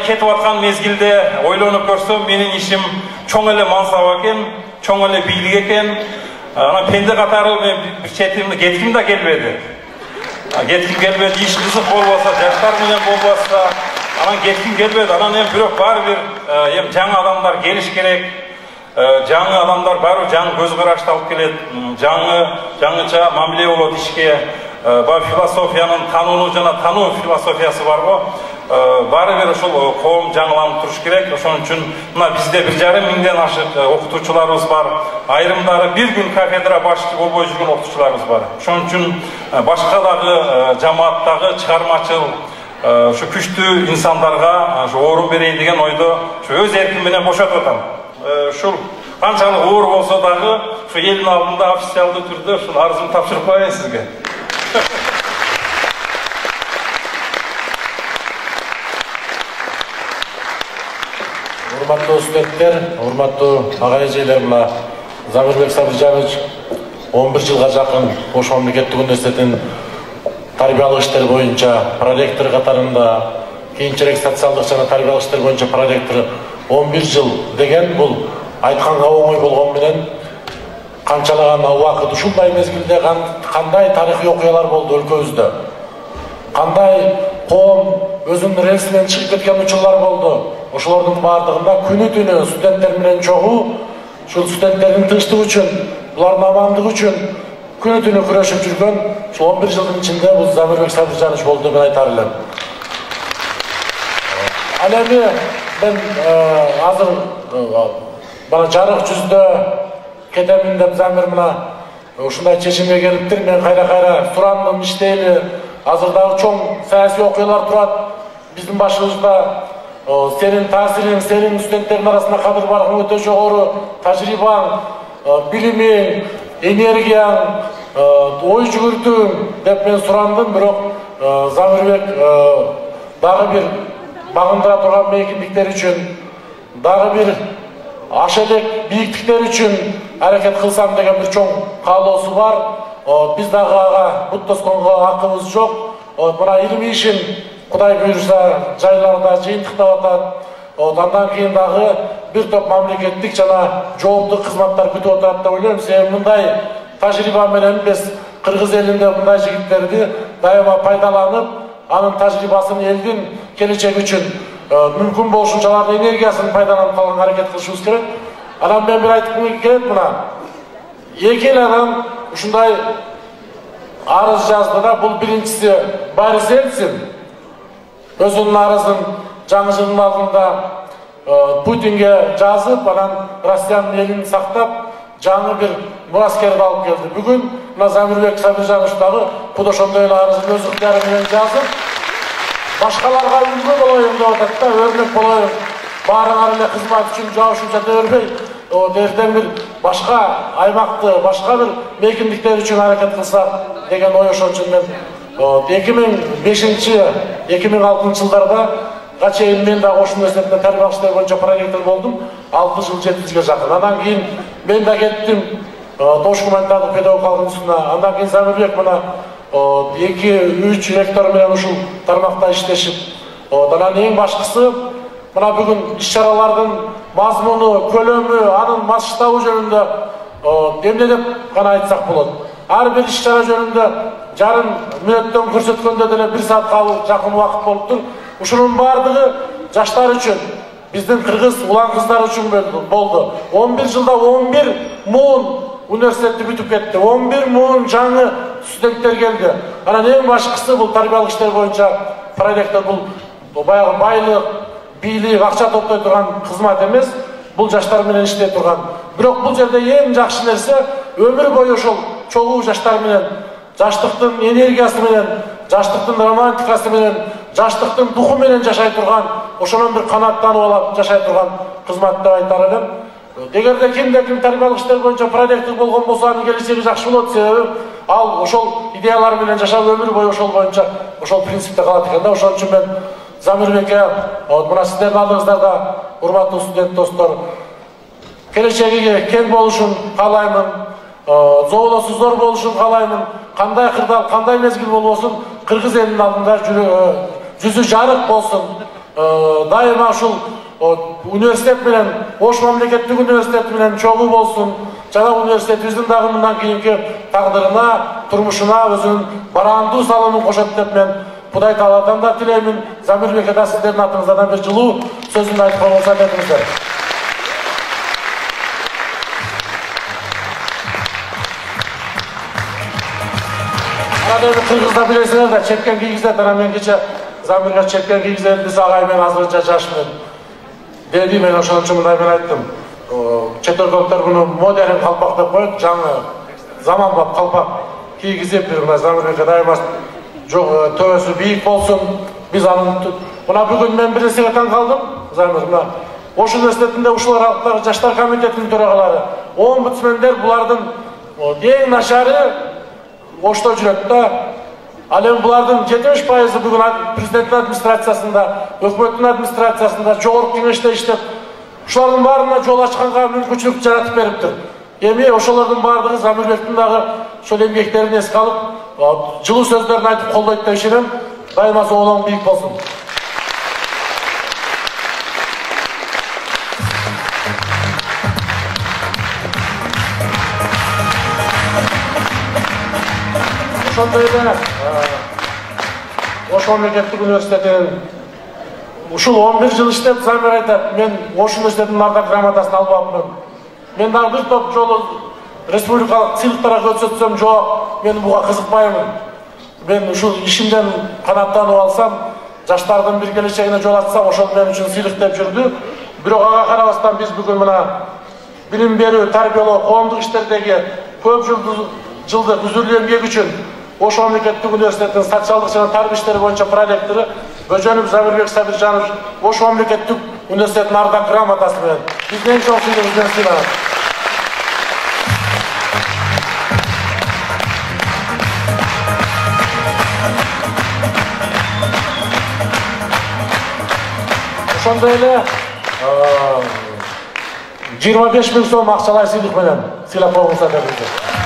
кетип аткан мезгилде ойлонуп көрсөм, менин ишим чоң эле мансап экен, чоң эле бийлик экен. Анан пенде катары мен бир четимде кетким да келбеди. Кетким келбеди, иш кызык болбосо, жаштар менен болбосо, анан кетким келбеди. Анан бирок баары бир жаңы адамдар келиш керек. Жаңы адамдар баары жаңы көз карашты алып келет. Жаңыча мамиле болот ишке. Баа философиянын танууну жана тануу философиясы бар го. Баары бир ошол коом жаңыланып туруш керек. Ошон үчүн мына бизде 1,5 миңден ашык окутуучуларыбыз бар. Айрымдары бир күн кафедра башчы болбой жүргөн окутуучуларыбыз бар. Ошон үчүн башка дагы жамааттагы чыгармачыл ушу күчтүү инсандарга орун берейин деген ойдо өз эрким менен бошотуп атам. Ушул канчалык оор болсо дагы ушу элдин алдында официалдуу түрдө ушул арызымды тапшырып коеюн сизге. Урматтуу студенттер, урматтуу ага эжелер, мына Замирбек Сабыржанович 11 жылга жакын Ош мамлекеттик университетинин тарбиялык иштер боюнча проректор катарында, кийинчерээк социалдык жана тарбиялык иштер боюнча проректор 11 жыл деген бул айтканга оңой болгон менен канчалаган убакыт ушундай мезгилде кандай тарыхый окуялар болду өлкөбүздө, кандай коом өзүнүн рельсинен чыгып кеткен учурлар болду. Ошолордун баардыгында күнү түнү студенттер менен чогуу, ушул студенттердин тынчтыгы үчүн, булардын амандыгы үчүн күнү түнү күрөшүп жүргөн ушул 11 жылдын ичинде бул Замирбек Сабыржанович болду деп айтар элем. Ал эми мен азыр бана жарык жүздө кетемин деп Замир мына ушундай чечимге келиптир. Мен кайра сурандым, иштейли. Азыр дагы чоң саясий окуялар турат биздин башыбызда. Сенин таасириң, сенин студенттердин арасында кадыр-баркың өтө жогору, тажрыйбаң, билимиң, энергияң, ой жүгүртүүң деп мен сурандым. Бирок Замирбек дагы бир багындыра турган мейкиндиктер үчүн, дагы бир аша элек бийиктиктер үчүн аракет кылсам деген бир чоң каалоосу бар. Биз дагы ага бут тосконго акыбыз жок. Мына илимий ишин Кудай буйруса жайларда жыйынтыктап атат. Андан кийин дагы бир топ мамлекеттик жана жооптуу кызматтар күтүп атат деп ойлойм. Себеби мындай тажрыйба менен биз кыргыз элинде мындай жигиттерди дайыма пайдаланып, анын тажрыйбасын элдин келечеги үчүн мүмкүн болушунчалардын энергиясын пайдаланып калганга аракет кылышыбыз керек. Анан мен бир айткым келет, мына эки эл адам ушундай арыз жазды да, бул биринчиси Борис Ельцин өзүнүн арызын жаңы жылдын алдында Путинге жазып, анан Россиянын элин сактап, жаңы бир мураскерди алып келди. Бүгүн мына Замирбек Сабыржанович дагы куд ошондой эле арызын өз ыктыяры менен жазып, башкаларга үлгү болоюн деп атат да, өрнөк болоюн. Баарыңар эле кызмат үчүн жабышып жата бербей, эртең бир башка аймакты, башка бир мейкиндиктер үчүн аракет кылсак деген ой. Ошон үчүн мен 2005-2006 жылдарда чейин мен дагы Ош университетинде тарбиялык иштер боюнча проректор болдум. 6 жыл 7 жылга жакын. Андан кийин мен да кеттим Ош гуманитардык педагогикалык институтуна. Андан кийин Замирбек мына 2-3 ректор менен ушул тармакта иштешип, анан эң башкысы мына бүгүн иш-чаралардын мазмуну, көлөмү, анын масштабы жөнүндө эмне деп гана айтсак болот. Ар бир иш-чара жөнүндө жарым мүнөттөн көрсөткөндө деле 1 саатка жакын убакыт болуптур. Ушунун баардыгы жаштар үчүн, биздин кыргыз улан кыздар үчүн болду. 11 жылда 11 муун университетти бүтүп кетти. 11 муун жаңы студенттер келди. Анан эң башкысы бул тарбиялык иштер боюнча проректор, бул баягы байлык, бийлик, акча топтой турган кызмат эмес, бул жаштар менен иштей турган. Бирок бул жерде эң жакшы нерсе өмүр бою ошол чогуу жаштар менен, жаштыктын энергиясы менен, жаштыктын романтикасы менен, жаштыктын духу менен жашай турган, ошонун бир канааттанып алып жашай турган кызмат деп айтар элем. Эгерде кимде-ким тарбиялык иштер боюнча проректор болгон болсо, анын келечеги жакшы болот. Себеби ал ошол идеялар менен жашап өмүр бою ошол боюнча, ошол принципте калат экен да. Ошон үчүн мен Замирбекке, мына сиздердин алдыңыздарда урматтуу студент достор, келечеги кең болушун каалаймын, зоолосу зор болушун каалаймын. Кандай кырдаал, кандай мезгил болбосун, кыргыз элинин алдында жүзү жарык болсун. дайыма ушул университет менен, Ош мамлекеттик университети менен чогуу болсун. Жана университетибиздин дагы мындан кийинки тагдырына, турмушуна өзүнүн бараандуу салымын кошот деп мен Кудай Тааладан да тилеймин. Замирбек ата, сиздердин атыңыздан бир жылуу сөзүмдү айтып койгонсо айтыңыздар. Кыргызда билесиңер да, чепкен кийгизет, анан мен кече Замирге чепкен кийгизет, биз агай мен азырынча жаш менен деди, мен ошон үчүн мындай мен айттым. Чет өлкөлүктөр муну модерн калпак деп коет, жаңы заманбап калпак кийгизип, бир мына Замирбекке дайыма төбөсү бийик болсун. Биз анын мына бүгүн мен бир нерсеге таң калдым. Замир мына Ош университетинде ушулар алыптагы жаштар комитетинин төрагалары, омбудсмендер булардын эң начары Ошто жүрөт да. Ал эми булардын 70% бүгүн президенттин администрациясында, өкмөттүн администрациясында, жогорку кеңеште иштеп, ушулардын баарына жол ачканга мүмкүнчүлүк жаратып бериптир. Эми ошолордун баардыгы Замирбектин дагы ошол эмгектерин эске алып, жылуу сөздөрүн айтып колдойт деп ишенем. Дайыма зоолоң бийик болсун. Ошондой эле Ош мамлекеттик университетинин ушул 11 жыл иштеп, Замир айтат, мен Ош университетинин ардак грамотасын албапмын. Мен дагы бир топ жолу республикалык сыйлыктарга көрсөтсөм, жок, мен буга кызыкпаймын. Мен ушул ишимден канаттанып алсам, жаштардын бир келечегине жол ачсам, ошол мен үчүн сыйлык деп жүрдү. Бирок ага карабастан биз бүгүн мына билим берүү, тарбиялоо, коомдук иштердеги көп жылдык үзүрлүү эмгеги үчүн Ош мамлекеттик университетинин социалдык жана тарбия иштери боюнча проректору Бөжөнов Замирбек Сабиржанович Ош мамлекеттик университетинин ардак грамотасы менен биздин эң чоң сыйлыгыбызды сыйлаган. Ошондой эле 25 000 сом акчалай сыйлык менен сыйлап койгонсуздар деп